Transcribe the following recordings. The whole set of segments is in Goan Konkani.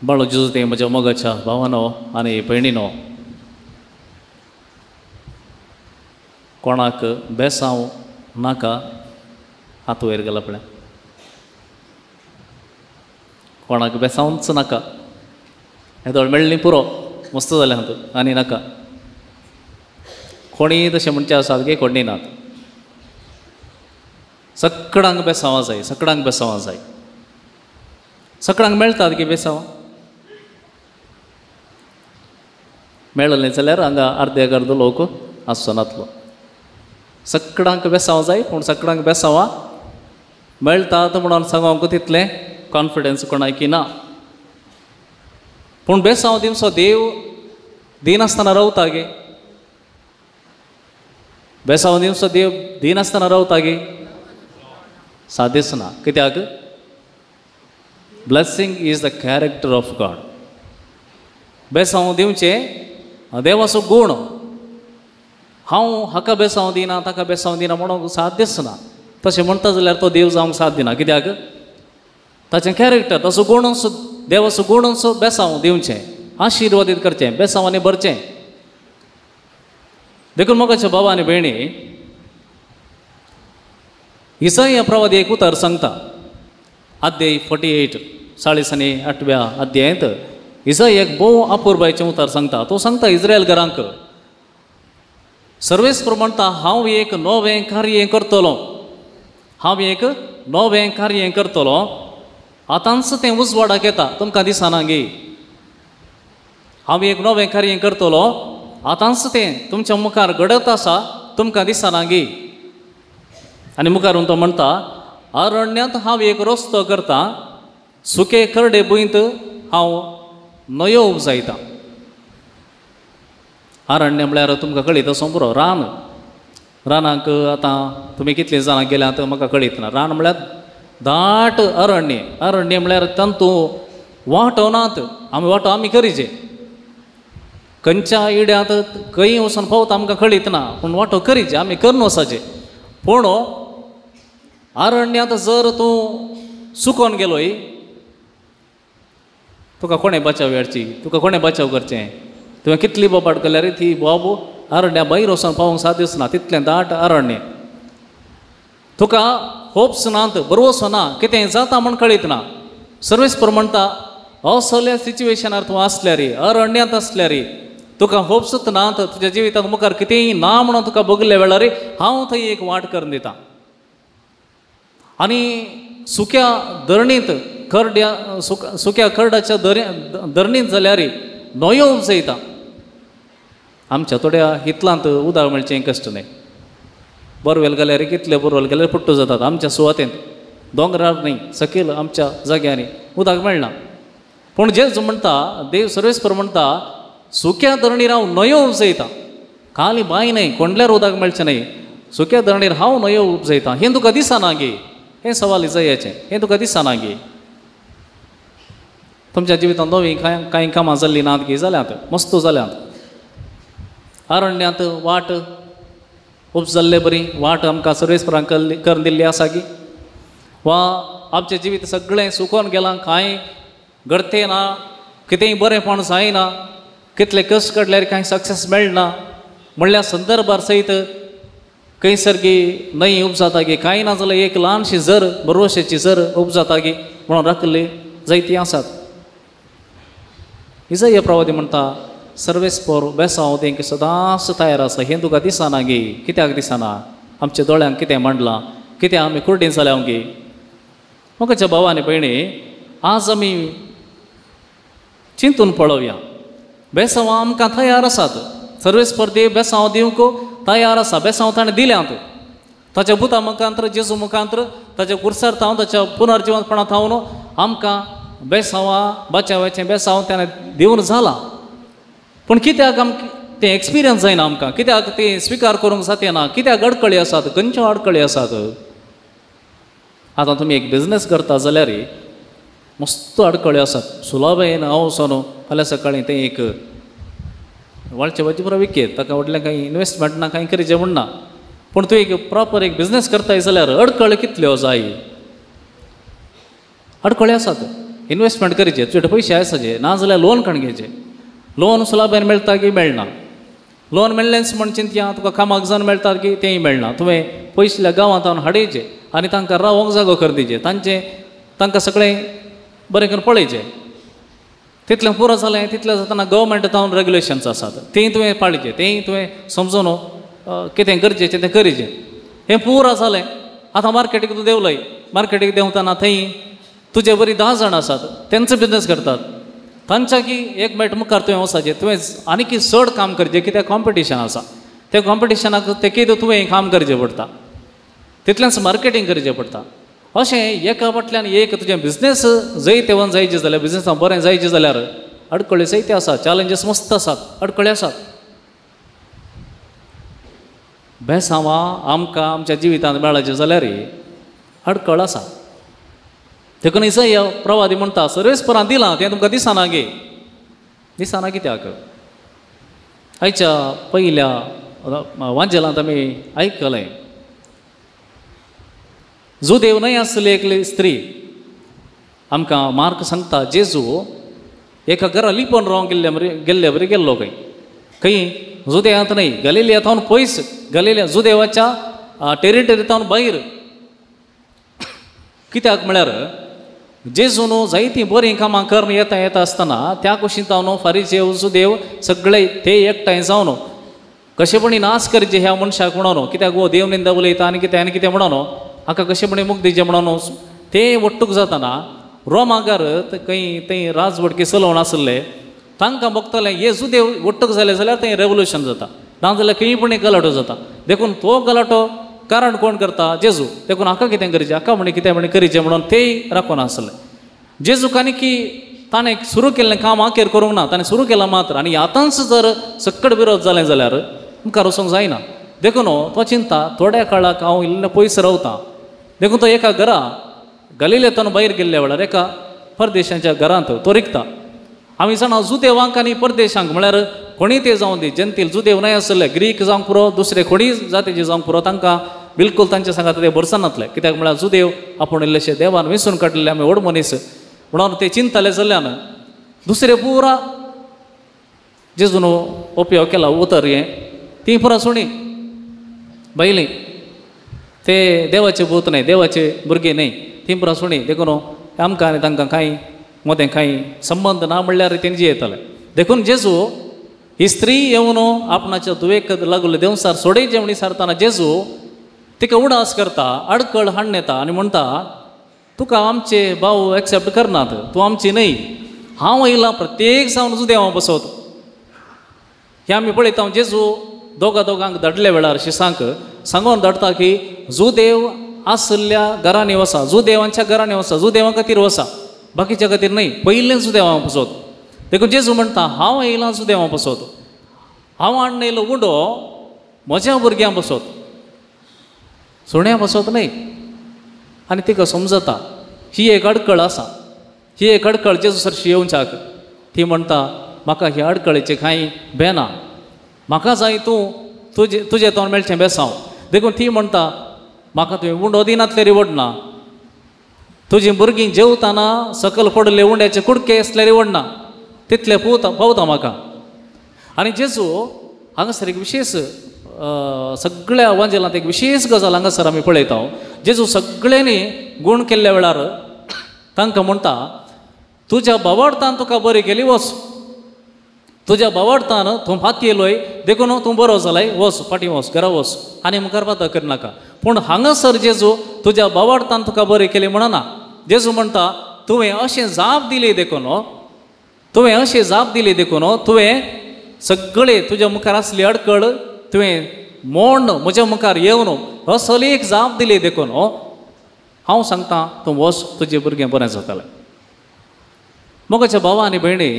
बाळो जेजू तें म्हज्या मोगाच्या भावानो आनी भयणीनो, कोणाक बेसांव नाका हात वयर गेला पळय, कोणाक बेसांवच नाका, हेदोळ मेळ्ळी पुरो मस्त जालें हातूंत आनी नाका. कोणीय तशें म्हणचें आसात गे कोणी नात, सगळ्यांक बेसांवां जाय, सगळ्यांक बेसांवां जाय, सगळ्यांक मेळटात गे बेसांवां. मेळलें जाल्यार हांगा अर्दे अर्दो लोक आसचो नातलो. सगळ्यांक बेसांव जाय, पूण सगळ्यांक बेसांवां मेळटात म्हणून सांगूंक तितलें कॉन्फिडन्स कोणाकी ना. पूण बेसांव दिवचो देव दिनासतना रावता गे, बेसांव दिवचो देव दिनासतना रावता गे, सादेच ना. कित्याक? Blessing is the character of God. बेसांव दिवचें देवाचो गूण. हांव हाका बेसांव दिना ताका बेसांव दिना म्हणूंक साध्यच ना. तशें म्हणटा जाल्यार तो देव जावंक साथ दिना. कित्याक? ताचें कॅरेक्टर, ताचो गुणूच, देवाचो गुणूच बेसांव दिवचें, आशिर्वादीत करचें, बेसांवांनी भरचें. देखून मोगाच्या बाबा आनी भयणी, इसाया प्रवादी एक उतर सांगता, अध्याय 48 48व्या अध्यायांत इसाया एक भोव अपुरबायचें उतर सांगता. तो सांगता इस्रायल घरांक, सर्वेस्पर म्हणटा हांव एक नवें कार्य करतलो, हांव एक नवें कार्य करतलो, आतांच तें उजवाडाक येता, तुमकां दिसना गे. हांव एक नवें कार्य करतलो, आतांच तें तुमच्या मुखार घडत आसा, तुमकां दिसना गे. आनी मुखार तो म्हणटा अरण्यांत हांव एक रस्तो करता, सुके करडे भुंयत हांव न्हंयो उपजायता. अरण्य म्हळ्यार तुमकां कळीत आसूं पुरो, रान. रानाक आतां तुमी कितलीं जाणां गेल्यात म्हाका कळीत ना. रान म्हळ्यार दाट अरण्य. अरण्य म्हळ्यार तातूंत वांटो नात, आमी वांटो आमी करीचे, खंयच्या इड्यांत खंय वचून पावता आमकां कळीत ना, पूण वांटो करीचे आमी करून वचपाचें. पूण अरण्यांत जर तूं सुकोन गेलोय, तुका कोणें बचाव हाडची, तुका कोणें बचाव करचें? तुवें कितली बोबाट केल्यार ती बोब अरण्या भायर वचून पावोंक साध्यच ना, तितलें दाट अरण्य. तुका होप्स नात, भरवसो ना, कितें जाता म्हूण कळीत ना. सर्वेस्पर म्हणटा असल्या सिच्युएशनार तूं आसल्यार, अरण्यांत आसल्यार, तुका होप्सूच नात, तुज्या जिवितांत मुखार कितेंय ना म्हणून तुका भोगल्या वेळार हांव थंय एक वाट करून दिता. आनी सुक्या धरणींत करड्या सुक्या करडाच्या धरणींत जाल्यार न्हंयो उपजयता. आमच्या थोड्या हितलांत उदक मेळचें कश्ट न्हय. बोरवेल गेल्यार कितले बोरवेल गेल्यार पुट्टो जातात. आमच्या सुवातेंत दोंगरार न्हय, सकयल आमच्या जाग्यांनी उदक मेळना. पूण जेजू म्हणटा, देव सर्वेस्पर म्हणटा सुक्या धरणीर हांव न्हंयो उपजयता. खाली बांय न्हय, कोंडल्यार उदक मेळचें न्हय, सुक्या धरणीर हांव न्हंयो उपजयता. हें तुका दिसना गे? हें सवाल इजायाचें, हें तुका दिसना गे? तुमच्या जिवितांत नवीं कांय कांय कामां जाल्लीं नात गे? जाल्यांत, मस्त जाल्यांत. अरण्यांत वाट उपजल्ले बरी वाट आमकां सर्वेस्परान करून दिल्ली आसा की, वा आमचें जिवीत सगळें सुकोन गेलां, कांय घडतें ना, कितेंय बरेंपण जायना, कितले कश्ट काडल्यार कांय सक्सेस मेळना म्हणल्या संदर्भार सयत खंयसर गी न्हंय उपजाता गी, कांय ना जाल्यार एक ल्हानशी जर भरवशाची जर उपजाता गी म्हणून राखिल्ली जायती आसात. इजाया प्रवादी म्हणटा सर्वेस्पर बेसांव तेंक सदांच तयार आसा. हें तुका दिसना गे? कित्याक दिसना? आमच्या दोळ्यांक कितें मांडलां, कितें आमी कुर्डीन जाल्या गे? मोगाच्या भावा आनी भयणी, आज आमी चिंतून पळोवया. बेसांवां आमकां तयार आसात, सर्वेस्पर देव बेसांव दिवंक तयार आसा. बेसांव ताणें दिल्यांत ताच्या भुता मुखांत्र, जेजू मुखांत्र, ताच्या कुर्सार थावन, ताच्या पुनर्जिवंतपणा थावन आमकां बेसांवां बचावाचें बेसांव ताणें दिवन जालां. पूण कित्याक आमकां तें एक्सपिरियन्स जायना आमकां? कित्याक तें स्विकार करूंक जाता? कित्याक अडकळी आसात? खंयच्यो अडकळी आसात? आतां तुमी एक बिजनेस करता जाल्यार मस्त अडकळी आसात. सुलभ येन हांव वचोन फाल्यां सकाळीं तें एक वाळचे भाजी पुरो विकयत, ताका व्हडलें कांय इनवेस्टमेंट ना, कांय करीचें म्हूण ना. पूण तूं एक प्रॉपर एक बिजनेस करताय जाल्यार अडकळी कितल्यो जाय? अडकळी आसात. इन्वेस्टमेंट करचे, तुजे पयशे आसाचे ना जाल्यार लोन काडून घेवचें. लोन सुलाभेन मेळटा की मेळना, लोन मेळ्ळेंच म्हण चिंतया तुका कामाक जावन मेळटा की तेंय मेळना. तुवें पयसुल्ल्या गांवांत हांव हाडयचें आनी तांकां रावोंक जागो कर दिवचें, तांचें तांकां सगळें बरें करून पळयचें. तितलें पुरो जालें तितलें जातना गव्हर्मेंट जावन रेगुलेशन्स आसात तेंय तुवें पाळचें, तेंय तुवें समजून कितें गरजेचें तें करचें. हें पुरो जालें आतां मार्केटीक तूं देंवलय, मार्केटीक देंवतना थंय तुजे बरी 10 जाण आसात तेंचो बिजनस करतात, तांच्या की एक मेट मुखार तुवें वचपाचें, तुवें आनीक चड काम करचें कित्याक कॉम्पिटिशन आसा, त्या कॉम्पिटिशनाक तेकीद तुवें काम करचें पडटा, तितलेंच मार्केटींग करचें पडटा. अशें एका फाटल्यान एक तुजें बिजनेस जैतवंत जायचें जाल्यार, बिजनेसान बरें जायचें जाल्यार अडकळी जायते आसात, चॅलेंजीस मस्त आसात, अडकळी आसात. बेसांवां आमकां आमच्या जिवितांत मेळाचें जाल्यार अडकळ आसा. देखून इसाया प्रवादी म्हणटा सर्वेस्परान दिलां तें तुमकां दिसना गे, दिसना कित्याक? आयच्या पयल्या वांजेलांत आमी आयकलें, जुदेव न्हय आसली एकली स्त्री. आमकां मार्क सांगता जेजू एका घरा लिपोवन रावंक गेल्ले बरी गेल्लो खंय खंय जुदेवांत न्हय, गलिलिया थावन पयस, गलिलिया जुदेवाच्या टेरिटरी थावन भायर. कित्याक म्हळ्यार जेजून जायतीं बरीं कामां करून येता येता आसतना त्या कुशीन जावन फारिजेव जुदेव सगळे ते एकठांय जावन कशेपणी नाश करचे ह्या मनशाक म्हणून, कित्याक हो देव निंदा उलयता आनी कितें आनी कितें म्हणून हाका कशेपणी मुक्त दिवचें म्हणून ते वट्टूक जातना रोमागार खंय थंय राजवटकी चलोवन आसले तांकां भोगतलें हे जुदेव वट्टूक जाले जाल्यार थंय रेवोल्युशन जाता, ना जाल्यार खंय पण गलाटो जाता. देखून तो गलाटो कारण कोण करता? जेजू. देखून हाका कितें करचें, हाका म्हणी कितें म्हणी करचें म्हणून तेय राखून आसले. जेजूक आनी की ताणें सुरू केल्लें काम आखेर करूंक ना, ताणें सुरू केलां मात्र, आनी आतांच जर सकट विरोध जालें जाल्यार मुखार वचूंक जायना. देखून तो चिंता थोड्या काळाक हांव इल्लो पयस रावता. देखून तो एका घरा गलिलेंतल्यान भायर गेल्ल्या वेळार एका परदेशांच्या घरांत तो रिगता. आमी जाणा जुदेवांक आनी परदेशांक म्हळ्यार कोणीय ते जावं दी, जनतील जुदेव न्हय आसले, ग्रीक जावंक पुरो, दुसरे कोणीय जातीचे जावंक पुरो, तांकां बिलकूल तांच्या सांगात ते भरसनातले. कित्याक म्हळ्यार जुदेव आपूण इल्लेशे देवान वेंचून काडलेले आमी व्हड मनीस म्हणून ते चिंतले जाल्ल्यान दुसरे पुरा जेजून उपयोग केला उतर हें ती पुरा सुणी बैली ते देवाचे भूत न्हय, देवाचे भुरगे न्हय, ती पुरा सुणी. देखून आमकां आनी तांकां कांय मदें कांय संबंद ना म्हणल्यार तेंची येताले. देखून जेजू ही स्त्री येवन आपणाच्या धुवेक लागले देंवसार सोडयचें म्हण विचारतना जेजू तिका उडास करता, अडकळ हाडून येता आनी म्हणटा तुका आमचे भाव एक्सेप्ट करनात, तूं आमची न्हय, हांव येयलां प्रत्येक जावन जुदेवां बसोत. हें आमी पळयता जेजू दोगा दोगांक धाडल्या वेळार शिसांक सांगून धाडटा की जुदेव आसल्या घरांनी वसा, जुदेवांच्या घरांनी वसा, जुदेवां खातीर वसा, बाकीच्या खातीर न्हय, पयलें जुदेवां बसोत. देखून जेजू म्हणटा हांव येयलां जुदेवां बसोत, हांव हाडून येयलो उंडो म्हज्या भुरग्यां बसोत, सुण्या बसोत न्हय. आनी तिका समजता ही एक अडकळ आसा, ही एक अडकळ जेजू सरशी येवच्याक. ती म्हणटा म्हाका ह्या अडकळेचें कांय बेना, म्हाका जाय तूं तुजे तुजें तोंड मेळचें बेसांव. देखून ती म्हणटा म्हाका तुवें उंडो दिनातले रिवडना, तुजीं भुरगीं जेवताना सकयल पडले उंड्याचे कुडके आसल्यार रिवडना, तितले पोवता पावता म्हाका. आनी जेजू हांगासर एक विशेश सगळ्या वांजेलांत एक विशेश गजाल हांगासर आमी पळयता. जेजू सगळ्यांनी गूण केल्ल्या वेळार तांकां म्हणटा तुज्या बावडतान तुका बरी केली वच, तुज्या बावडतान तूं फातयेलोय देखून तूं बरो जालाय, वच फाटीं वच, घरा वच आनी मुखार पाता करनाका. पूण हांगासर जेजू तुज्या बावडतान तुका बरी केली म्हणना, जेजू म्हणटा तुवें अशें जाप दिली देखून, तुवें अशें जाप दिली देखून तुवें सगळे तुज्या मुखार आसली अडकळ तुवें मोड म्हज्या मुखार येवन असली एक जाप दिली देखून हांव सांगता तूं वच, तुजें भुरगें बरें जातलें. मोगाच्या भावा आनी भयणी,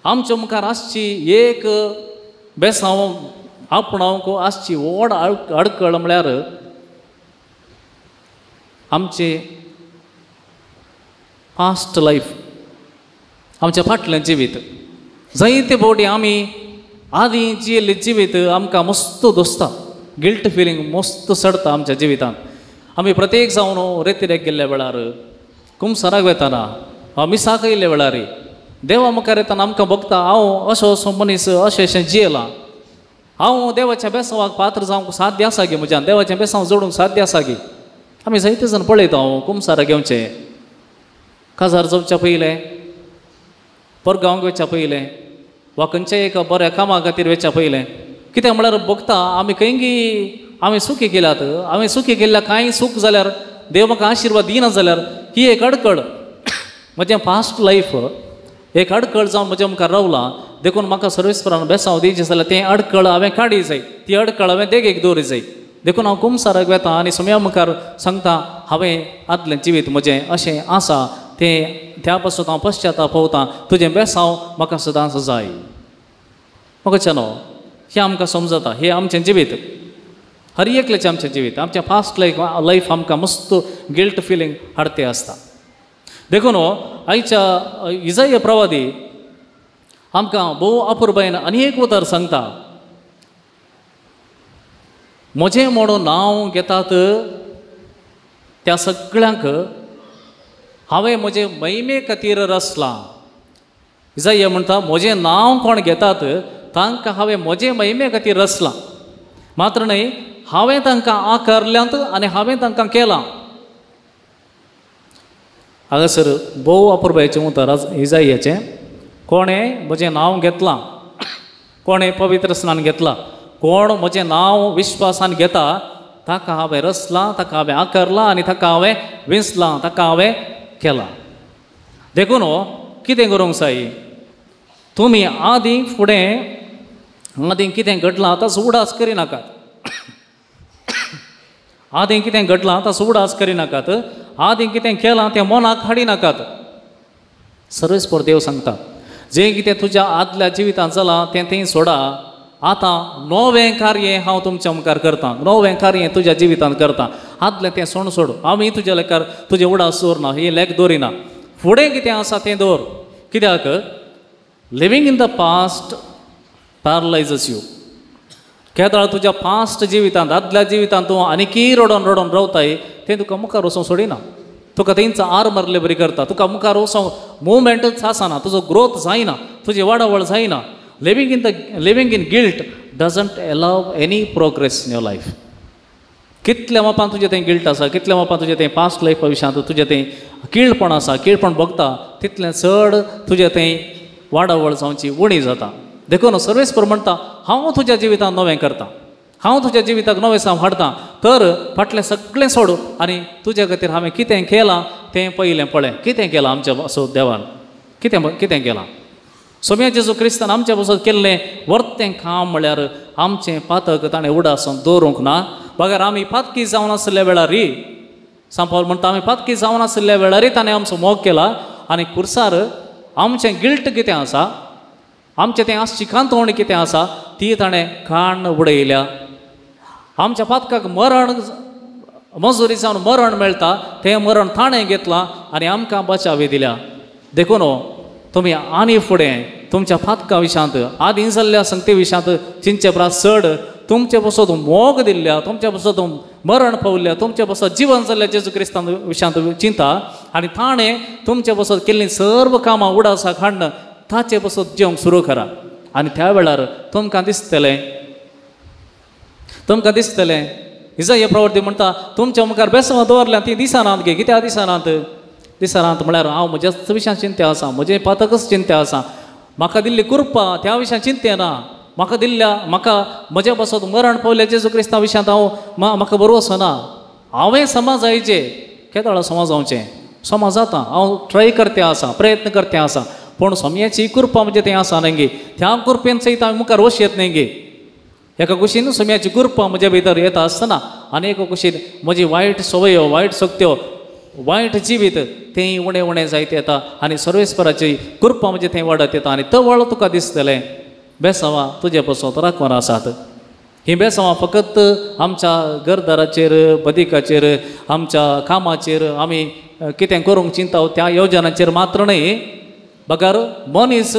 आमच्या मुखार आसची एक बेसांव आपणावंक आसची व्हड अडकळ म्हळ्यार आमचे पास्ट लायफ, आमच्या फाटलें जिवीत. जायते फावटी आमी आदीं जियेल्लें जिवीत आमकां मस्त दोसता, गिल्ट फिलींग मस्त चडटा आमच्या जिवितांत. आमी प्रत्येक जावन रेतिरेक गेल्ल्या वेळार कुमसाराक वेताना मिसाक येयल्ल्या वेळार देवा मुखार येताना आमकां भोगता हांव असो असो मनीस अशें अशें जियेलां, हांव देवाच्या बेसांवाक पात्र जावंक साध्य आसा गे, म्हज्यान देवाचें बेसांव जोडूंक साध्य आसा गे. आमी जायते जाण पळयता हांव कुमसारा घेवचें, काजार जावच्या पयलें, परगांवक वचच्या पयलें वा खंयच्याय एका बऱ्या कामा खातीर वचच्या पयलें, कित्याक म्हळ्यार भोगता आमी खंयगी आमी सुखी केल्यात, आमी सुखी केल्ल्या कांय सूख जाल्यार देव म्हाका आशिर्वाद दिना जाल्यार ही एक अडकळ म्हजें पास्ट लायफ एक अडकळ जावन म्हज्या मुखार रावलां. देखून म्हाका सर्वेस्परान बेसांव दिवचें जाल्यार तें अडकळ हांवें काडी जाय, ती अडकळ हांवें देगेक दवरी जाय. देखून हांव कुमसाराक वेता आनी सोम्या मुखार सांगता हांवें आदलें जिवीत म्हजें अशें आसा तें त्या पासून हांव पश्चाताप पवता, तुजें बेसांव म्हाका सदांच जाय. म्हाका न्हू हें आमकां समजता, हें आमचें जिवीत हर एकल्याचें आमचें जिवीत आमचें पास्ट लायफ आमकां मस्त गिल्ट फिलींग हाडते आसता. देखून आयच्या इजाय प्रवादी आमकां भोव अपुरबायेन आनी एक उतर सांगता, म्हजें म्हणून नांव घेतात त्या सगळ्यांक हांवें म्हजे महिमे खातीर रचलां. इजाय म्हणटा म्हजें नांव कोण घेतात तांकां हांवें म्हजे महिमे खातीर रचलां, मात्र न्हय हांवें तांकां आकारल्यांत आनी हांवें तांकां केलां. हांगासर भोव अपुरबायेचें उतर इजायाचें, कोणें म्हजें नांव घेतलां, कोणें पवित्र स्नान घेतलां, कोण म्हजें नांव विश्वासान घेता ताका हांवें रचलां, ताका हांवें आकारलां आनी ताका हांवें विंचलां, ताका हांवें केलां. देखून कितें करूंक जाय, तुमी आदीं फुडें आदीं कितें घडलां ताचो उडास करिनाकात, आदीं कितें घडलां ताचो उडास करिनाकात, आदीं कितें केलां तें मनाक हाडिनाकात. सर्वेस्पर देव सांगता जें कितें तुज्या आदल्या जिवितांत जालां तें थंय सोडा, आतां नवें कार्य हांव तुमच्या मुखार करतां, नवें कार्य तुज्या जिवितांत करतां, आदलें तें सोड सोड, आमी तुज्या लेखार तुजें उडास दवरना, ही लेख दवरिना, फुडें कितें आसा तें दवर. कित्याक living in the past paralyses you. केदळ तुज्या पास्ट जिवितांत आदल्या जिवितांत तूं आनीकय रडोन रडोन रावताय तें तुका मुखार वचोंक सोडिना, तुका थंयच आर मारले बरी करता, तुका मुखार वचोंक मुवमेंटच आसना, तुजो ग्रोथ जायना, तुजी वाडावळ जायना. Living in guilt doesn't allow any progress in your life. कितल्या मापान तुजें तें गिल्ट आसा, कितल्या मापान तुजें तें पास्ट लायफ विशयांत तुजें तें किळपण आसा, किळपण भोगता, तितलें चड तुजें तें वाडावळ जावची उणी जाता. देखून सर्वेस्पर म्हणटा हांव तुज्या जिवितांत नवें करतां, हांव तुज्या जिविताक नवें साव हाडटा, तर फाटलें सगळें सोड आनी तुज्या खातीर हांवें कितें केलां तें पयलें पळय, कितें केलां आमच्या असो देवान, कितें कितें केलां. सोम्या जेजू क्रिस्तान आमच्या पासत केल्लें वर्तें काम म्हळ्यार आमचें पातक ताणें उडासून दवरूंक ना, बगर आमी पातकी जावन आशिल्ल्या वेळार, सांपावल म्हणटा आमी पातकी जावन आशिल्ल्या वेळार ताणें आमचो मोग केला आनी खुर्सार आमचें गिल्ट कितें आसा, आमचें तें आसची कांतवण कितें आसा ती ताणें काण उडयल्या. आमच्या पातकाक मरण मजुरी जावन मरण मेळटा तें मरण ताणें घेतलां आनी आमकां बचावी दिल्या. देखून तुमी आनी फुडें तुमच्या पातका विशयांत आदीं जाल्ल्या संगती विशयांत चिंतचे परस चड तुमचे पासत मोग दिल्ल्या, तुमचे पासत मरण पावल्ल्या, तुमचे पासत जिवन जाल्ल्या जेजू क्रिस्तान विशयांत चिंता आनी ताणें तुमचे पासत केल्लीं सर्व कामां उडासाक हाडून ताचे पासत जेवंक सुरू करा. आनी त्या वेळार तुमकां दिसतलें, तुमकां दिसतलें इजाय प्रवर्ती म्हणटा तुमच्या मुखार बेसवां दवरल्या तीं दिसनात गे. कित्याक दिसनात? दिसनात म्हळ्यार हांव म्हज्याच विशयान चिंत्या आसा, म्हजें पातकच चिंत्या आसा, म्हाका दिल्ली कृपा त्या विशयान चिंतें ना, म्हाका दिल्ल्या म्हाका म्हज्या पासत मरण पावल्या जेजू क्रिस्ता विशयांत हांव म्हाका बरोवचो ना. हांवें समाज जायचे केदळा समाज जावचें, समाज जाता, हांव ट्राय करते आसा, प्रयत्न करते आसा, पूण सोम्याची कृपा म्हणजे तें आसा न्हय गे, त्या कृपेन सयत हांवें मुखार वश येत न्हय गे. एका कुशीन सोम्याची कृपा म्हज्या भितर येता आसतना आनी एका कुशीन म्हजी वायट सवयो, वायट शक्त्यो, वायट जिवीत तें उणें उणें जायत येता आनी सर्वेस्पराची कृपा म्हणजे थंय वाडत येता आनी तवळ तुका दिसतलें बेसांवां तुजे पासत राखून आसात. हीं बेसांवां फकत आमच्या घरदाराचेर, बदिकाचेर, आमच्या कामाचेर आमी कितें करूंक चिंता त्या योजनाचेर मात्र न्हय, बगर मनीस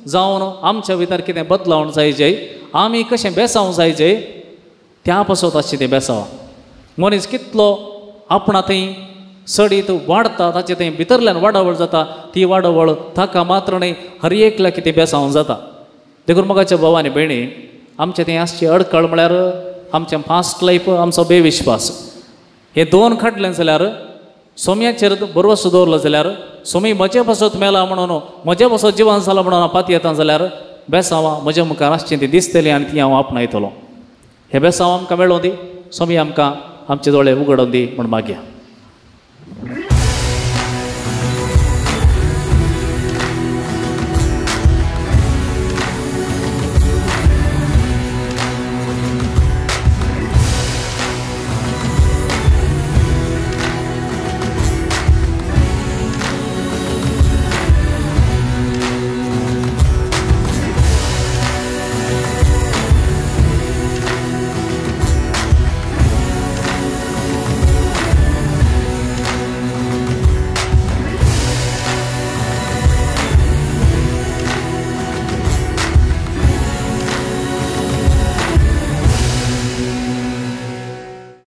जावन आमच्या भितर कितें बदलावण जायचे, आमी कशें बेसांव जायचे त्या पासत आसचें तें बेसांव. मनीस कितलो आपणा थंय चडीत वाडता, ताचे थंय भितरल्यान वाडावळ जाता, ती वाडावळ ताका मात्र न्हय हर एकल्या कितें बेसांव जाता. देखून मोगाच्या भाव आनी भयणी, आमचें थंय आसची अडकळ म्हळ्यार आमचें फास्ट लायफ, आमचो बेविश्वास. हे दोन काडलें जाल्यार, सोम्याचेर भरवसो दवरलो जाल्यार, सोमी म्हजे पासत मेला म्हणून, म्हजे पासत जिवन जाला म्हणून हांव पातयेता जाल्यार बेसांवां म्हज्या मुखार आसचीं ती दिसतलीं आनी ती हांव आपणायतलो. हे बेसांव आमकां मेळों दी, सोमी आमकां आमचे दोळे उगडोवन दी म्हूण मागया.